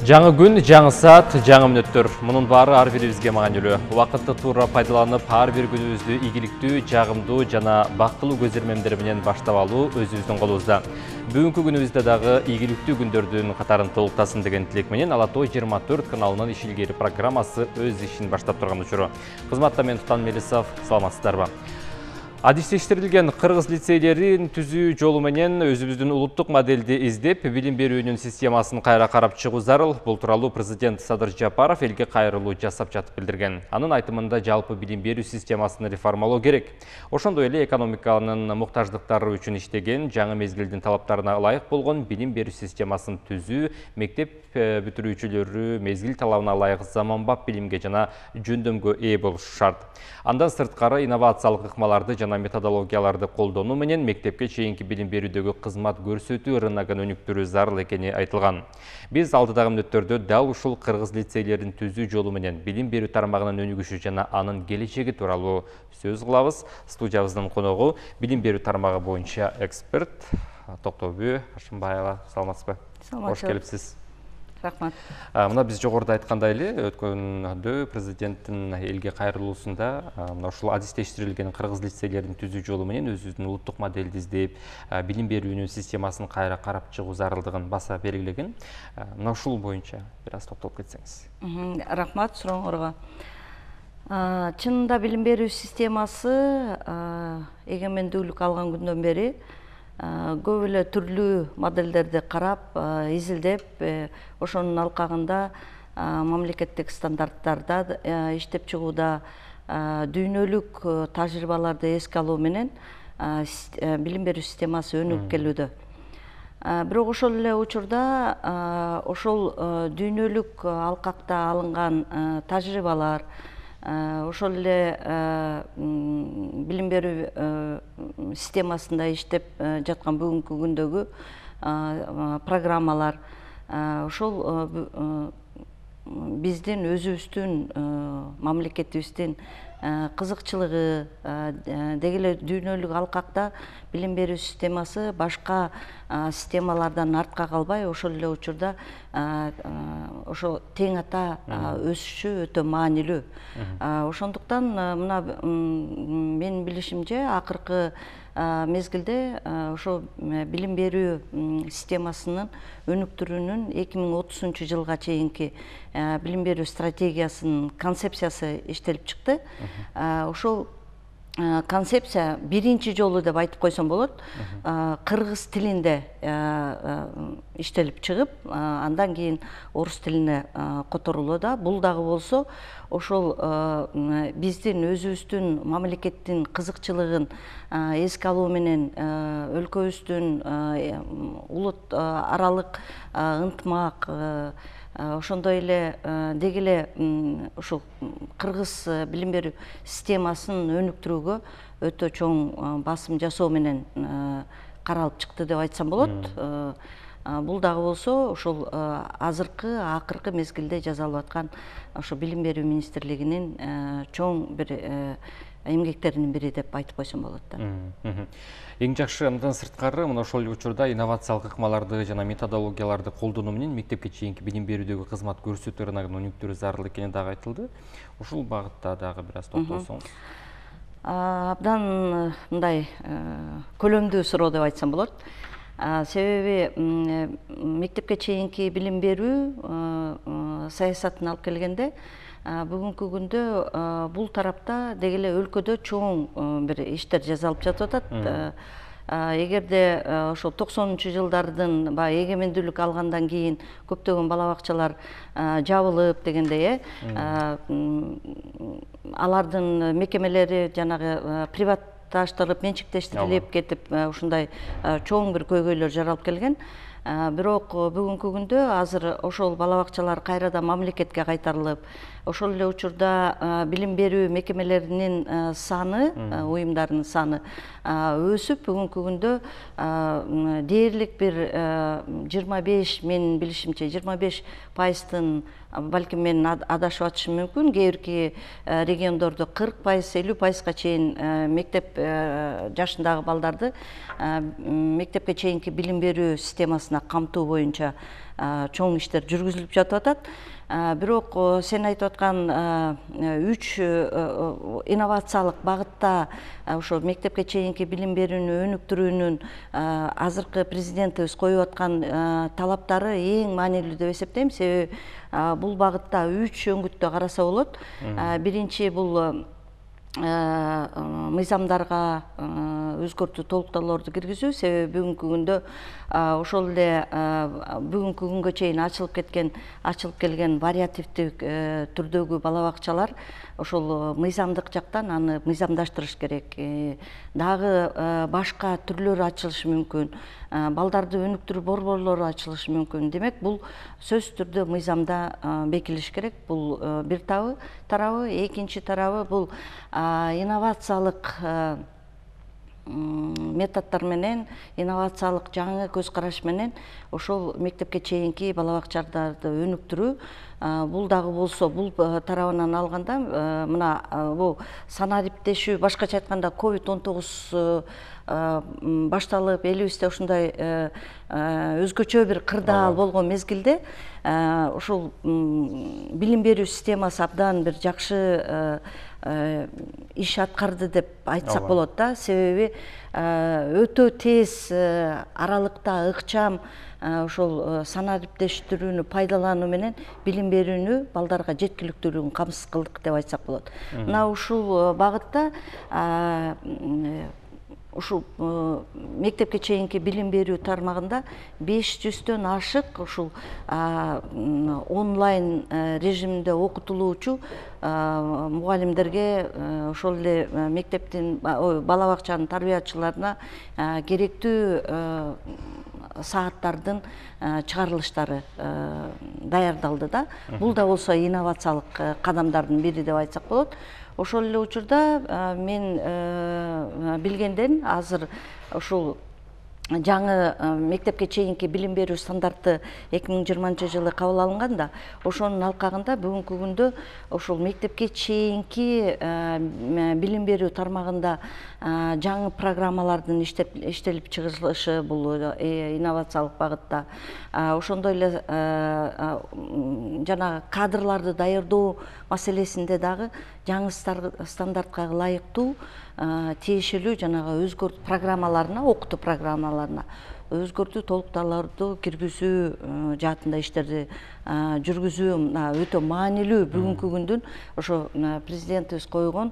Жаңы күн, жаңы саат, жаңы мүнөттөр. Мунун баары ар бирибизге маанилүү. Убакытты туура пайдаланып, ар бир күнүбүздү ийгиликтүү, жагымдуу жана бактылуу көзөрмөмдөр менен баштап алуу өзүбүздүн колубузда. Бүгүнкү күнүбүздө дагы ийгиликтүү күндөрдүн катарын толуктасын деген тилек менен Ала Тоо 24 каналынын иш илгери программасы өз ишин баштап турган учуру. Кызматта мен Тутан Мелисов, саламатсыздарбы? Адистештирилген кыргыз лицейлерин түзүү жолу менен өзүбүздүн улуттук модельди издеп, билим берүүнүн системасын кайра карап чыгуу зарыл. Бул тууралуу президент Садыр Жапаров элге кайрылуу жасап жатып билдирген. Анын айтымында жалпы билим берүү системасын реформалоо керек. Ошондой эле экономиканын муктаждыктары үчүн иштеген, жаңы мезгилдин талаптарына ылайык болгон билим берүү системасын түзүү, мектеп бүтүрүүчүлөрү мезгил талабына ылайык заманбап билимге жана жөндөмгө ээ болушу шарт. Андан сырткары инновациялык ыкмаларды жана методологияларды колдонуу менен мектепке чейинки билим берүүдөгү кызмат көрсөтүү рыногун өнүктүрүү зарыл экени айтылган. Биз алдыдагы мүнөттөрдө дал ушул кыргыз лицейлерин түзүү жолу менен билим берүү тармагынын өнүгүшү жана анын келечеги тууралуу сөз кылабыз. Студиябыздын коногу билим берүү тармагы боюнча эксперт Токтобүй Ашымбаева. Саламатсызбы? Кош келипсиз. Рахмат. Мына биз жогоруда айткандай эле, өткөндө президенттин элге кайрылуусунда ушул адистештирилген кыргыз лицейлерин түзүү жолу менен өзүбүздүн улуттук модельди издеп, билим берүүнүн системасын кайра карап чыгуу зарылдыгын баса белгилеген. Мына ушул боюнча бир аз токтолуп кетсеңиз. Рахмат сурооңорго. Чынында билим берүү системасы эгемендүүлүк алган күндөн бери көп эле түрлүү модельдерди карап, изилдеп, ошонун алкагында мамлекеттик стандарттарда иштеп чыгууда дүйнөлүк тажрыйбаларды эске алуу менен билим берүү системасы өнүгүп келүүдө. Бирок ошол эле учурда ошол дүйнөлүк алкакта алынган тажрыйбалар, ошол эле билим берүү системасында иштеп жаткан бүгүнкү күндөгү программалар ошол биздин өзүбүздүн мамлекетибиздин кызыкчылыгы, деги эле дүйнөлүк алкакта билим берүү системасы башка системалардан артка калбай, ошол эле учурда ошо тең ата өсүшү өтө маанилүү. Ошондуктан мына менин билишимче акыркы мезгилде ошо билим берүү системасынын өнүктүрүүнүн 2030-жылга чейинки билим берүү стратегиясынын концепциясы иштелип чыкты. Ошол концепция биринчи жолу деп айтып койсом болот, кыргыз тилинде иштелип чыгып, андан кийин орус тилине которулууда. Да бул дагы болсо ошол биздин өзүбүздүн мамлекеттин кызыкчылыгын эске алуу менен өлкөбүздүн улут аралык ынтымак, ошондой эле деги эле ушул кыргыз билим берүү системасын өнүктүрүүгө өтө чоң басым жасоо менен каралып чыкты деп айтсам болот. Бул дагы болсо ошол азыркы акыркы мезгилде жасалып аткан ошо билим берүү министрлигинин чоң бир эмгектеринин бири деп айтып койсом болот да. Эң жакшы андан сырткары мына ошол учурда инновациялык ыкмаларды жана методологияларды колдонуу менен мектепке чейинки билим берүүдөгү кызмат көрсөтүү рыногун өнүктүрүү зарыл экени дагы айтылды. Ушул багытта дагы бир аз токтолсоңуз. Абдан мындай көлөмдүү суроо деп айтсам болот. Себеби мектепке чейинки билим берүү саясатын алып келгенде бүгүнкү күндө бул тарапта деги эле өлкөдө чоң бир иштер жасалып жатып атат. Эгерде ошо 90-жылдардын баягы эгемендүүлүк алгандан кийин көптөгөн бала бакчалар жабылып дегендей, алардын мекемелери жанагы приватташтырып, менчиктештирилип кетип, ушундай чоң бир көйгөйлөр жаралып келген. Бирок бүгүнкү күндө азыр ошол бала бакчалар кайрадан мамлекетке кайтарылып, ошол эле учурда билим берүү мекемелеринин саны, уюмдарынын саны өсүп, бүгүнкү күндө дээрлик бир 25, менин билишимче 25%, балким мен адашып атышым мүмкүн, кээ бирки региондордо 40%, 50%га чейин мектеп жашындагы балдарды мектепке чейинки билим берүү системасына базасына камтуу боюнча чоң иштер жүргүзүлүп жатып атат. Бирок сен айтып аткан 3 инновациялык багытта ошо мектепке чейинки билим берүүнү өнүктүрүүнүн азыркы президентибиз коюп аткан талаптары эң маанилүү деп эсептейм. Себеби бул багытта 3 өңүттө караса болот. Биринчи бул мыйзамдарга өзгөртүү толуктоолорду киргизүү. Себеби бүгүнкү күндө ошол эле бүгүнкү күнгө чейин ачылып келген вариативдик түрдөгү бала бакчалар ошол мыйзамдык жактан аны мыйзамдаштырыш керек. Дагы башка түрлөрү ачылышы мүмкүн. Балдарды өнүктүрүү борборлору ачылышы мүмкүн. Демек, бул сөзсүз түрдө мыйзамда бекилиш керек. Бул бир тарабы. Экинчи тарабы бул инновациялык методдор менен, инновациялык жаңы көз караш менен ошол мектепке чейинки бала бакчаларды өнүктүрүү. Бул дагы болсо, бул тарабынан алганда мына бул санариптешүү, башкача айтканда COVID-19 башталып, элибизде ушундай өзгөчө бир кырдаал болгон мезгилде ушул билим берүү системасы абдан бир жакшы иш аткарды деп айтсак болот да. Себеби өтө тез аралыкта ыкчам ошол санариптештирүүнү пайдалануу менен билим берүүнү балдарга жеткиликтүүлүгүн камсыз кылдык деп айтсак болот. Мына ушул багытта ушул мектепке чейинки билим берүү тармагында 500дөн ашык ушул онлайн режиминде окутулуучу мугалимдерге, ошол эле мектептин бала бакчанын тарбиячыларына керектүү сааттардын чыгарылыштары даярдалды да. Бул да болсо инновациялык кадамдардын бири деп айтсак болот. Ошол эле учурда мен билгенден азыр ушул жаңы мектепке чейинки билим берүү стандарты 2020-жылы кабыл алынган да, ошонун алкагында бүгүнкү күндө ошол мектепке чейинки билим берүү тармагында жаңы программалардын иштелип чыгылышы бул инновациялык багытта. Ошондой эле жана кадрларды даярдоо маселесинде дагы жаңы стандартка ылайыктуу тиешелүү жанагы өзгөртүү программаларына, окутуу программаларына өзгөртүү толуктоолорду киргизүү жаатында иштерди жүргүзүү өтө маанилүү бүгүнкү күндүн ошо президентибиз койгон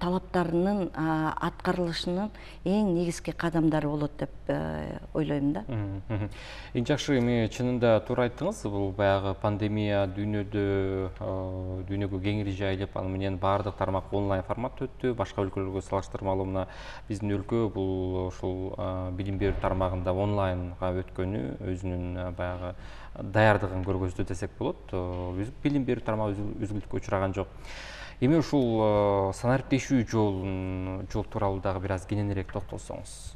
талаптарынын аткарылышынын эң негизги кадамдары болот деп ойлойм да. Эң жакшы, эми чынында туура айттыңыз. Бул баягы пандемия дүйнөгө кеңири жайылып, аны менен баардык тармак онлайн форматта өттү. Башка өлкөлөргө салыштырмалуу мына биздин өлкө бул ушул билим берүү тармагында онлайнга өткөнү өзүнүн баягы даярдыгын көргөздү десек болот. Билим берүү тармагы үзгүлтүккө учураган жок. Эми ушул санариптешүү жол тууралуу дагы бир аз кененирээк токтолсоңуз,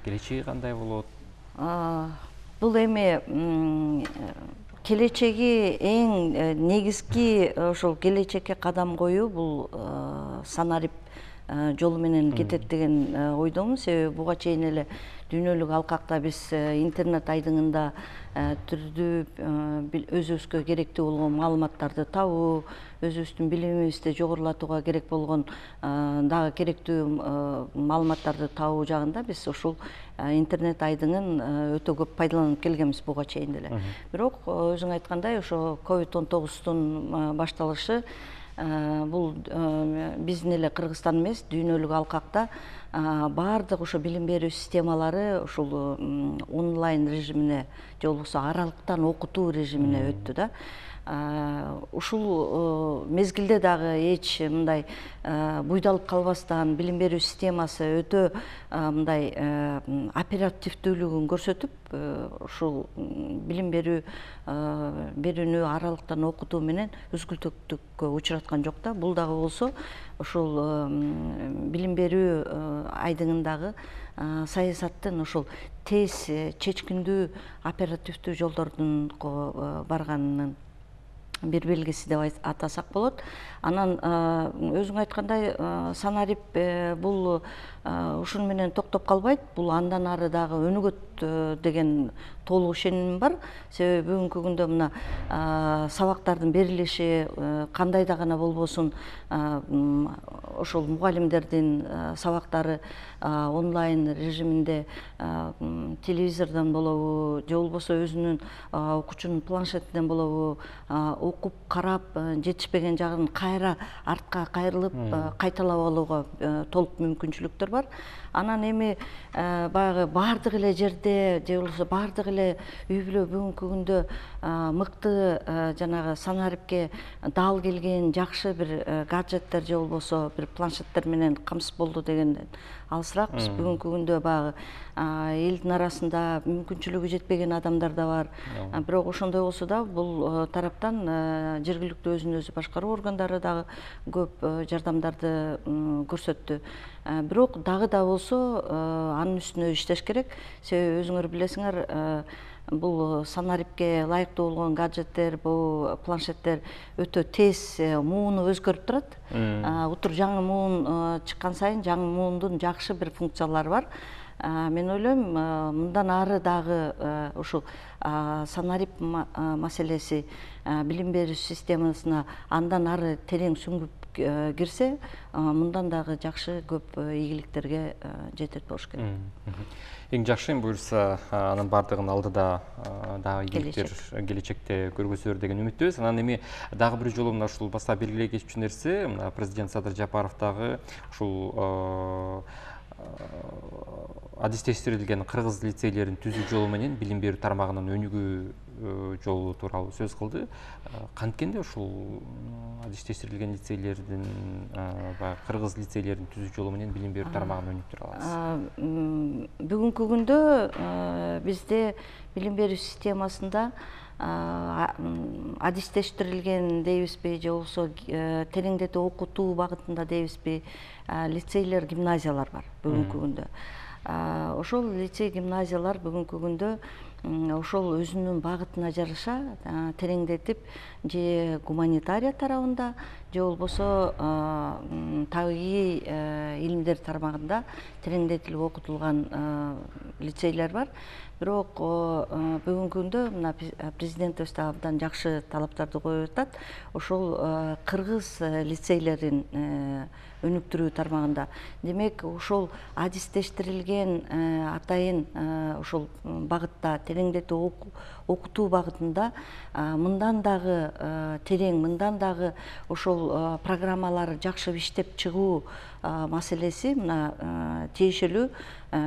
келечеги кандай болот? Бул эми келечеги эң негизги ошол келечекке кадам коюу бул санарип жолу менен кетет деген ойдомун. Себеби буга чейин эле дүйнөлүк алкакта биз интернет айдыңында түрдүү өзүбүзгө керектүү болгон маалыматтарды табуу, өзүбүздүн билимибизди жогорулатууга керек болгон дагы керектүү маалыматтарды табуу жагында биз ушул интернет айдыңын өтө көп пайдаланып келгенбиз буга чейин эле. Бирок өзүң айткандай ошо COVID-19 башталышы бул биздин эле Кыргызстан эмес, дүйнөлүк алкакта баардык ошо билим берүү системалары ушул онлайн режимине же болбосо аралыктан окутуу режимине өттү да. Ушул мезгилде дагы эч мындай буйдалып калбастан билим берүү системасы өтө мындай оперативдүүлүгүн көрсөтүп, ушул билим берүүнү аралыктан окутуу менен үзгүлтүктүккө учураткан жок да. Бул дагы болсо ушул билим берүү айдыңындагы саясаттын ошол тез чечкиндүү оперативдүү жолдордун барганынын бир белгиси деп атасак болот. Анан өзүң айткандай санарип бул ушуну менен токтоп калбайт. Бул андан ары дагы өнүгөт деген толук ишенимим бар. Себеби бүгүнкү күндө мына сабактардын берилиши кандай да гана болбосун ошол мугалимдердин сабактары онлайн режиминде телевизордон болобу же болбосо өзүнүн окуучунун планшетинен болобу окуп карап жетишпеген жагын кайра артка кайрылып кайталап алууга толук мүмкүнчүлүктөр бар. Анан эми баягы баардык эле жерде же болбосо баардык эле үй бүлө бүгүнкү күндө мыкты жанагы санарипке дал келген жакшы бир гаджеттер же болбосо бир планшеттер менен камсыз болду дегенден алысыракпыз. Бүгүнкү күндө баягы элдин арасында мүмкүнчүлүгү жетпеген адамдар да бар. Бирок ошондой болсо да бул тараптан жергиликтүү өзүн өзү башкаруу органдары дагы көп жардамдарды көрсөттү. Бирок дагы да болсо анын үстүнө иштеш керек. Себеби өзүңөр билесиңер, бул санарипке ылайыктуу болгон гаджеттер, бул планшеттер өтө тез мууну өзгөрүп турат. Утур жаңы муун чыккан сайын жаңы муундун жакшы бир функциялары бар. Мен ойлойм, мындан ары дагы ушул санарип маселеси билим берүү системасына андан ары терең сүңгүп кирсе, мындан дагы жакшы көп ийгиликтерге жетет болуш керек. Эң жакшы буюрса, анын бардыгын алдыда дагы ийгиликтер келечекте көргөзөлөр деген үмүттөбүз. Анан эми дагы бир жолу мына ушул баса белгилей кетчү нерсе, президент Садыр Жапаров дагы ушул адистештирилген кыргыз лицейлерин түзүү жолу менен билим берүү тармагынын өнүгүү жолу тууралуу сөз кылды. Канткенде ушул адистештирилген лицейлердин кыргыз лицейлерин түзүү жолу менен билим берүү тармагын өнүктүрө алабыз? Бүгүнкү күндө бизде билим берүү системасында адистештирилген дейбизби же болбосо тереңдетип окутуу багытында дейбизби лицейлер, гимназиялар бар бүгүнкү күндө. Ошол лицей, гимназиялар бүгүнкү күндө ошол өзүнүн багытына жараша тереңдетип же гуманитария тарабында же болбосо табигый илимдер тармагында тереңдетилип окутулган лицейлер бар. Бирок бүгүнкү күндө мына президентибиз да абдан жакшы талаптарды коюп атат. Ошол кыргыз лицейлерин өнүктүрүү тармагында. Демек, ошол адистештирилген атайын ошол багытта тереңдетип окутуу багытында мындан дагы терең, мындан дагы ошол программалар жакшы иштеп чыгуу маселеси мына тиешелүү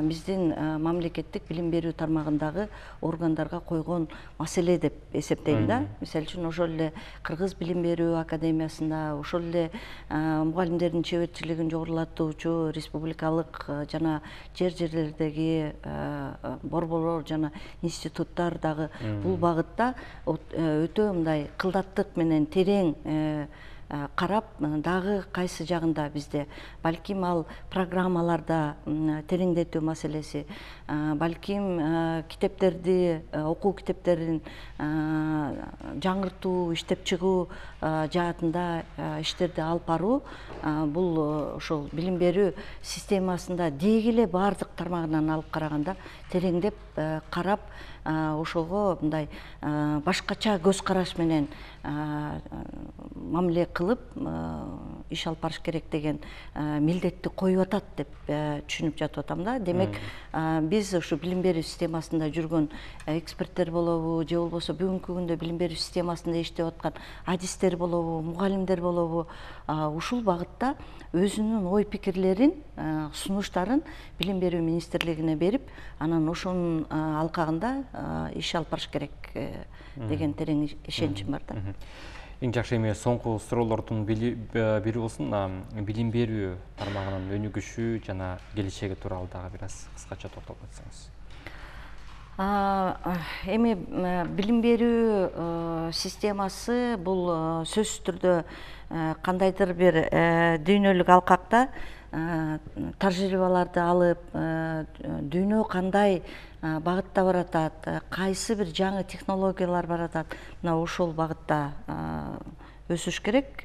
биздин мамлекеттик билим берүү тармагындагы органдарга койгон маселе деп эсептейм да. Мисалы үчүн ошол эле Кыргыз билим берүү академиясында, ошол эле мугалимдердин чеберчилигин жогорулатуучу республикалык жана жерлердеги борборлор жана институттар дагы бул багытта өтө мындай кылдаттык менен терең карап, дагы кайсы жагында бизде балким ал программаларда тереңдетүү маселеси, балким китептерди, окуу китептерин жаңыртуу, иштеп чыгуу жаатында иштерди алып баруу, бул ошол билим берүү системасында деги эле баардык тармагынан алып караганда тереңдеп карап, ошого мындай башкача көз караш менен мамиле кылып иш алып барыш керек деген милдетти коюп атат деп түшүнүп жатып атам да. Демек, биз ушу билим берүү системасында жүргөн эксперттер болобу, же болбосо бүгүнкү күндө билим берүү системасында иштеп аткан адистер болобу, мугалимдер болобу, ушул багытта өзүнүн ой пикирлерин, сунуштарын билим берүү министрлигине берип, анан ошонун алкагында иш алып барыш керек деген терең ишеничим бар да. Эң жакшы эми соңку суроолордун бири болсун, билим берүү тармагынын өнүгүшү жана келечеги тууралуу дагы бир аз кыскача токтолуп өтсөңүз. Эми билим берүү системасы бул сөзсүз түрдө кандайдыр бир дүйнөлүк алкакта тажрыйбаларды алып, дүйнө кандай багытта баратат, кайсы бир жаңы технологиялар баратат, мына ошол багытта өсүш керек.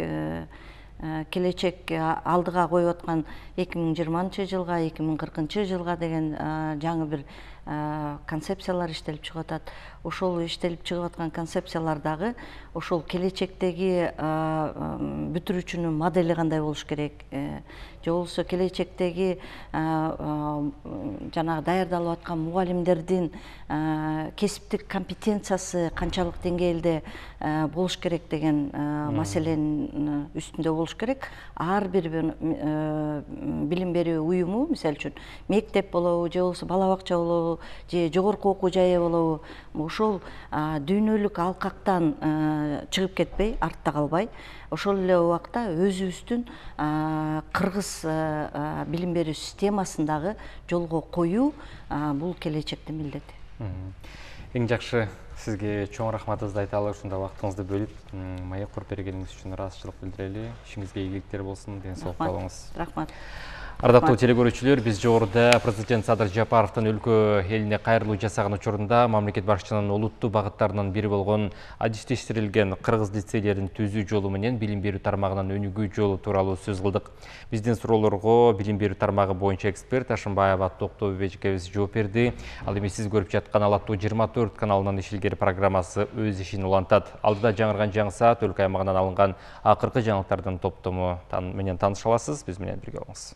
келечек алдыга коюп аткан 2020 жылга 2040 жылга деген жаңы бир концепциялар иштелип чыгып атат. Ошол иштелип чыгып аткан концепциялар дагы ошол келечектеги бүтүрүүчүнүн модели кандай болуш керек, же болбосо келечектеги жанагы даярдалып аткан мугалимдердин кесиптик компетенциясы канчалык деңгээлде болуш керек деген маселенин үстүндө болуш керек. Ар бир билим берүү уюму, мисалы үчүн мектеп болобу, же болбосо бала бакча болобу, же жогорку окуу жайы болобу, ошол дүйнөлүк алкактан чыгып кетпей, артта калбай, ошол эле убакта өзүбүздүн кыргыз билим берүү системасын дагы жолго коюу бул келечектин милдети. Эң жакшы, сизге чоң рахматыбызды айталы, ушундай убактыңызды бөлүп, маек куруп бергениңиз үчүн ыраазычылык билдирели. Ишиңизге ийгиликтер болсун, ден соолукта болуңуз. Рахмат. Ардактуу телекөрүүчүлөр, биз жогоруда президент Садыр Жапаровдун өлкө элине кайрылуу жасаган учурунда мамлекет башчынын олуттуу багыттарынын бири болгон адистештирилген кыргыз лицейлерин түзүү жолу менен билим берүү тармагынын өнүгүү жолу тууралуу сөз кылдык. Биздин суроолорго билим берүү тармагы боюнча эксперт Ашымбаева Токтогул эжекебиз жооп берди. Ал эми сиз көрүп жаткан Ала Тоо 24 каналынын иш илгери программасы өз ишин улантат. Алдыда жаңырган жаңы саат өлкө аймагынан алынган акыркы жаңылыктардын топтому менен тааныша аласыз. Биз менен бирге болуңуз.